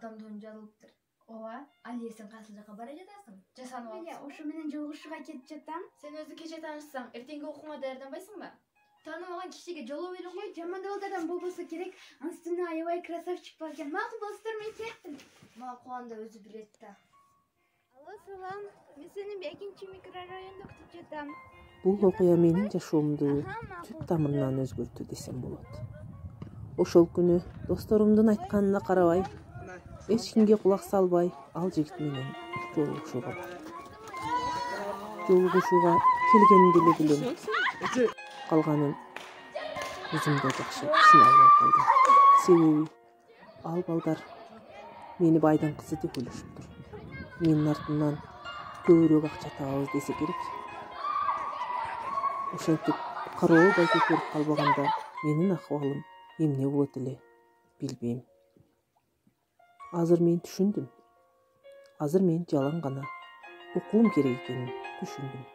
адамдын жазылыптыр. Ооба. Алия, сен кайсы жака бара жатасың? Жасанып эле ошо менен жолугушууга кетип жатам. Сен өзү кече таанышсаң, эртеңки окууга даярданбайсыңбы? Тааныбаган кишиге жолоо берип кой. Жаман балдардан болбосо керек. Анын үстүнө аябай красавчик бар экен. Макул достор, мен кеттим. Макул, анда өзү билет да. Алло, салам. Мен сенин 2 микрорайондо күтүп жатам. Бул окуя менин жашоомду түп тамырынан өзгөртү десем болот. Ошол күнү досторумдун айтканына карабай, эч кимге кулак салбай, ал жигит менен жолугушууга бардым. Жолугушууга келгенимди эле билем. Калганын өзүмдө жакшы түшүнө албай калдым. Себеби ал балдар мени байдын кызы деп ойлошуптур. Менин артымдан көбүрөөк акча табабыз десе керек. Ошентип карообай көтөрүп калбаганда менин акыбалым эмне болот эле билбейм. Азыр мен түшүндүм. Азыр мен жалаң гана окуум керек экенин түшүндүм.